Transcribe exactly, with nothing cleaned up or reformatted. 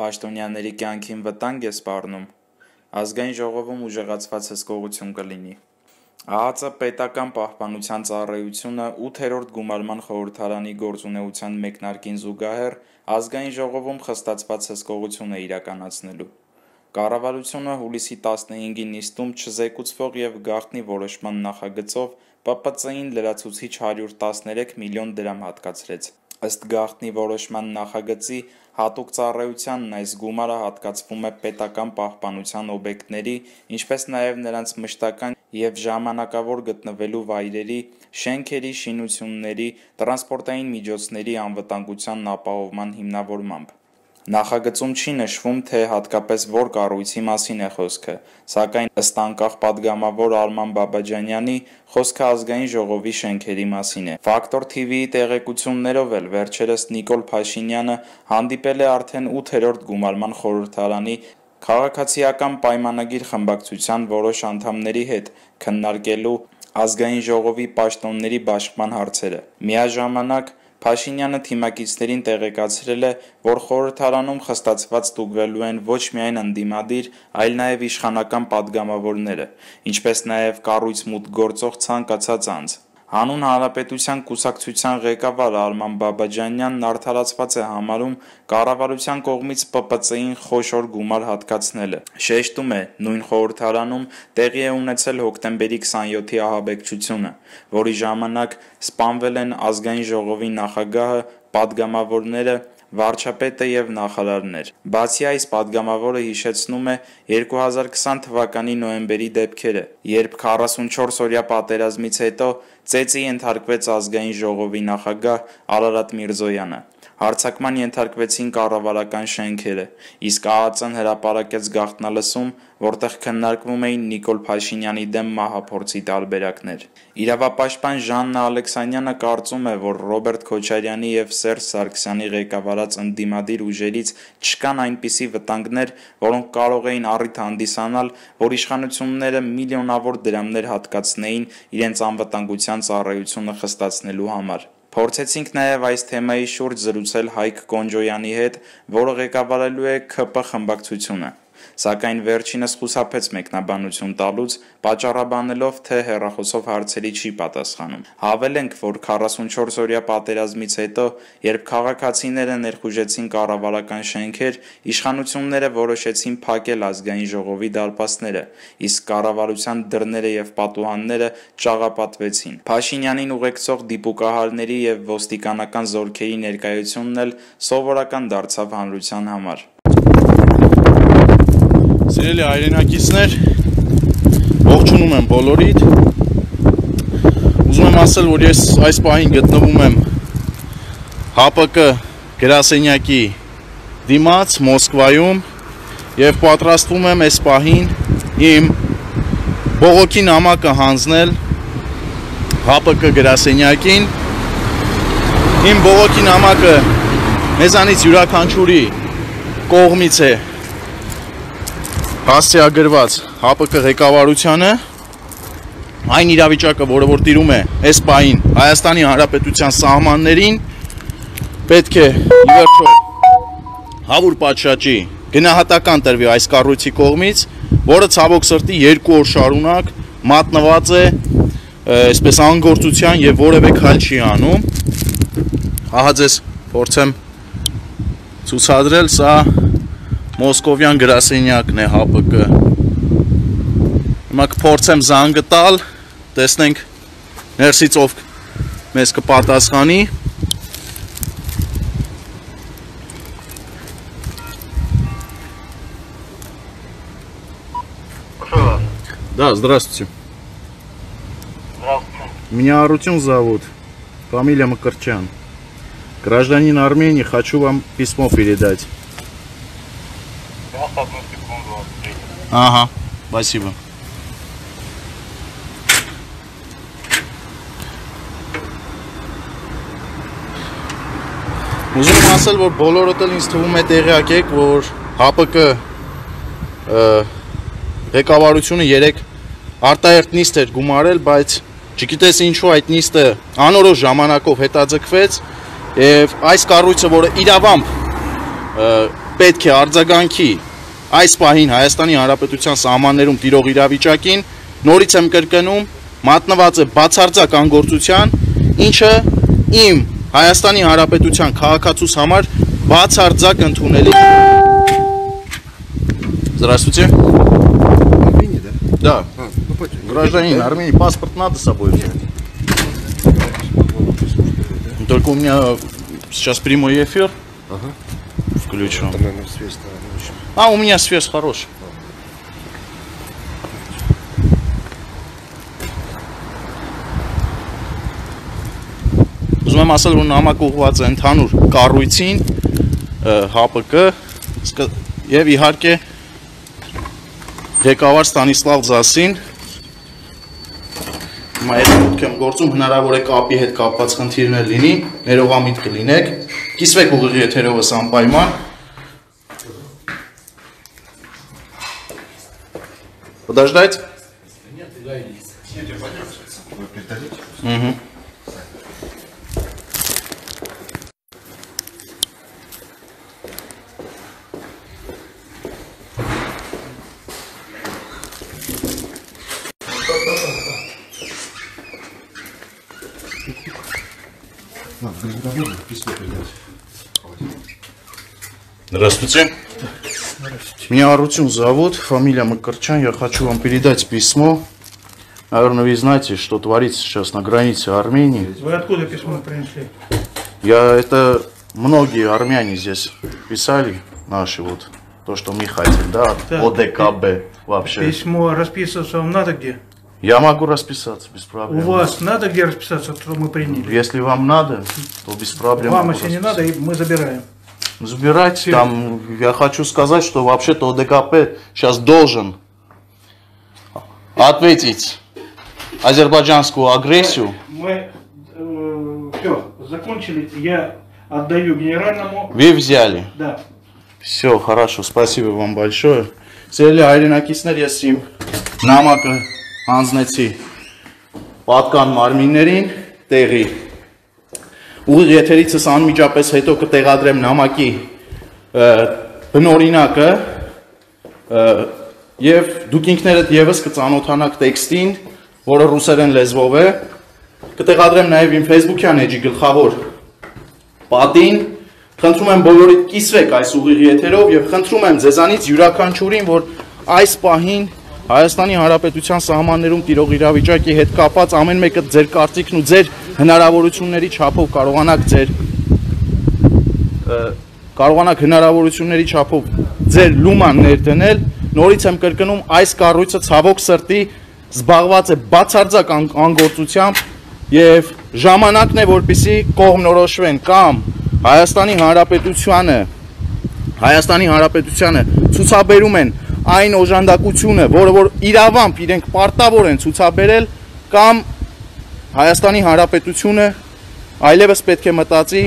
Պաշտոնյաների կյանքին վտանգ է սպառնում, ազգային ժողովում ուժեղացված հսկողություն կլինի։ ԱԱԾ պետական պահպանության ծառայությունը ութերորդ գումարման խորհրդարանի գործունեության մեկնարկին զուգահեռ ազգային ժողովում խստացված հսկողություն է իրականացնելու։ Կառավարությունը հուլիսի տասնհինգի նիստում չզեկուցվող և գաղտնի որոշման նախագծով Պ Պ Ծ-ին լրացուցիչ հարյուր տասներեք միլիոն դրամ հատկացրեց։ Ըստ գաղտնի որոշման նախագծի, հատուկ ծառայությանն այս գումարը հատկացվում է պետական պահպանության օբյեկտների, ինչպես նաև նրանց մշտական և ժամանակավոր գտնվելու վայրերի, շենքերի, շինությունների, տրանսպորտային միջոցների անվտանգության ապահովման հիմնավորմամբ։ Նախագծում չի նշվում, թե հատկապես որ կառույցի մասին է խոսքը, սակայն ըստ անկախ պատգամավոր Արման Բաբաջանյանի, խոսքը ազգային ժողովի շենքերի մասին է։ Ֆակտոր Թ V-ի տեղեկություններով էլ վերջերս Նիկոլ Փաշինյանը հանդիպել է արդեն ութերորդ գումարման խորհրդարանի քաղաքացիական պայմանագիր խմբակցության որոշ անդամների հետ, քննարկելու ազգային ժողովի պաշտոնների բաշխման հարցերը։ Միաժամանակ Փաշինյանը թիմակիցներին տեղեկացրել է, որ խորհրդարանում խստացված ստուգվելու են ոչ միայն ընդդիմադիր, այլ նաև իշխանական պատգամավորները, ինչպես նաև կառույց մուտք գործող ցանկացած անձ։ Հանուն Հանրապետության կուսակցության ղեկավար Արման Բաբաջանյանն արդարացված է համարում կառավարության կողմից Պ Պ Ծ-ին խոշոր գումար հատկացնելը։ Շեշտում է, նույն խորհրդարանում տեղի է ունեցել հոկտեմբերի քսանյոթի ահաբեկչությունը, որի ժամանակ սպանվել են ազգային ժողովի նախագահը, պատգամավորները, վարչապետը և նախարարներ։ Բացի այս, պատգամավորը հիշեցնում է երկու հազար քսան թվականի նոյեմբերի դեպքերը, երբ քառասունչորս օրյա պատերազմից հետո ծեծի ենթարկվեց ազգային ժողովի նախագահ Արարատ Միրզոյանը։ Հարձակման ենթարկվեցին կառավարական շենքերը, իսկ ԱԱԾ-ն հրապարակեց գաղտնալսում, որտեղ քննարկվում էին Նիկոլ Փաշինյանի դեմ մահափորձի տարբերակներ։ Իրավապաշտպան Ժաննա Ալեքսանյանը կարծում է, որ Ռոբերտ Քոչարյանի և Սերժ Սարգսյանի ղեկավարած ընդդիմադիր ուժերից չկան այնպիսի վտանգներ, որոնք կարող էին առիթ հանդիսանալ, որ իշխանությունները միլիոնավոր դրամներ հատկացնեին իրենց անվտանգության ծառայությունը խստացնելու համար։ Փորձեցինք նաև այս թեմայի շուրջ զրուցել Հայկ Կոնջոյանի հետ, որը ղեկավարելու է K P խմբակցությունը, սակայն վերջինս խուսափեց մեկնաբանություն տալուց, պատճառաբանելով, թե հեռախոսով հարցերի չի պատասխանում։ Հավելենք, որ քառասունչորս օրյա պատերազմից հետո, երբ քաղաքացիները ներխուժեցին կառավարական շենքեր, իշխանությունները որոշեցին փակել ազգային ժողովի դարպասները, իսկ կառավարության դռները և պատուհանները ճաղապատվեցին։ Փաշինյանին ուղեկցող դիպուկահարների և ոստիկանական զորքերի ներկայությունն էլ սովորական դարձավ հանրության համար։ Սիրելի հայրենակիցներ, ողջունում եմ բոլորիդ։ Ուզում եմ ասել, որ ես այս պահին գտնվում եմ H P K գրասենյակի դիմաց Մոսկվայում և պատրաստվում եմ այս պահին իմ բողոքի նամակը հանձնել H P K գրասենյակին։ Իմ բողոքի նամակը մեզանից յուրաքանչյուրի կողմից է հասցեագրված H P K ղեկավարությանը, այն իրավիճակը, որը որ տիրում է այս պահին Հայաստանի Հանրապետության սահմաններին, պետք է ի վերջո հավուր պատշաճի գնահատական տրվի այս կառույցի կողմից, որը ցավոք սրտի երկու օր շարունակ մատնված է այսպես անգործության և որևէ քայլ չի անում։ Ահա ձեզ փորձեմ ցուցադրել, սա Մոսկովյան գրասենյակն է H P K։ Հիմա կփորձեմ զանգը տալ, տեսնենք ներսից ով մեզ կպատասխանի։ Да, здравствуйте. Здравствуйте. Меня Арутюн зовут, фамилия Макарчан. Гражданин Армении, хочу вам письмо передать. Сейчас, одну секунду, открыть. Ага, спасибо. Ուզում եմ ասել, որ բոլորդ էլ ինձ թվում է տեղյակ եք, որ H P K ղեկավարությունը երեք արտահերթ նիստ էր գումարել, բայց չգիտես ինչու այդ նիստը անորոշ ժամանակով հետաձգվեց, եւ այս կառույցը, որը իրավամբ պետք է արձագանքի այս պահին Հայաստանի Հանրապետության սահմաններում տիրող իրավիճակին, նորից եմ կրկնում, մատնված է բացարձակ անգործության, ինչը իմ Հայաստանի Հանրապետության քաղաքացուս համար բացարձակ ընդունելի։ Здравствуйте. Армении, да? Да. А, ну почему? Гражданин Армении, паспорт надо с собой взять. Только у меня сейчас прямой эфир. Ага. Включен. Там, наверное, связь, наверное, очень. А, у меня связь хорошая. Ուզում եմ ասել, որ նամակ ուղղված է ընդհանուր կառույցին, H P K եւ իհարկե ղեկավար Ստանիսլավ Ձասին։ Հիմա այդ մուտք եմ գործում, հնարավոր է կապի հետ կապված խնդիրներ լինի, ներողամիտ կլինեք, կիսվեք ուղիղ եթերովս անպայման։ Подождать? Нет, я Вы передадите? Угу. Здравствуйте. Меня Арутюн зовут, фамилия Макарчан. Я хочу вам передать письмо. Наверное, вы знаете, что творится сейчас на границе Армении. Вы откуда письмо принесли? Я это многие армяне здесь писали, наши вот, то, что мы хотим, да, Так, О Д К Б вообще. Письмо расписываться вам надо где? Я могу расписаться без проблем. У вас надо где расписаться, что мы приняли? Если вам надо, то без проблем. Вам, могу если не надо, и мы забираем. Забирайте, Все. там, я хочу сказать, что вообще-то О Д К П сейчас должен ответить азербайджанскую агрессию. Мы э, все, закончили. Я отдаю генеральному. Вы взяли. Да. Все, хорошо, спасибо вам большое. Սիրելի հայրենակիցներ, ես իմ նամակը հանձնեցի պատկան մարմիններին տեղի։ Ուղիղ եթերիցս անմիջապես հետո կտեղադրեմ նամակի բնօրինակը եւ դուք ինքներդ եւս կծանոթանաք տեքստին, որը ռուսերեն լեզվով է։ Կտեղադրեմ նաեւ իմ Facebook-յան էջի գլխավոր պատին։ Խնդրում եմ բոլորիդ կիսվեք այս ուղիղ եթերով եւ խնդրում եմ ձեզանից յուրաքանչյուրին, որ այս պահին Հայաստանի Հանրապետության սահմաններում տիրող իրավիճակի հետ կապված ամեն մեկը ձեր կարծիքն ու ձեր հնարավորությունների չափով կարողանաք ձեր կարողանաք հնարավորությունների չափով ձեր լուման ներդնել։ Նորից եմ կրկնում, այս կառույցը ցավոք սրտի զբաղված է բացարձակ անգործությամբ եւ ժամանակն է, որպեսզի կողմնորոշվեն կամ Հայաստանի Հանրապետությանը Հայաստանի Հանրապետությանը ցուցաբերում են այն օժանդակությունը, որը որ իրավամբ իրենք պարտավոր են ցուցաբերել, կամ Հայաստանի Հանրապետությունը այլևս պետք է մտածի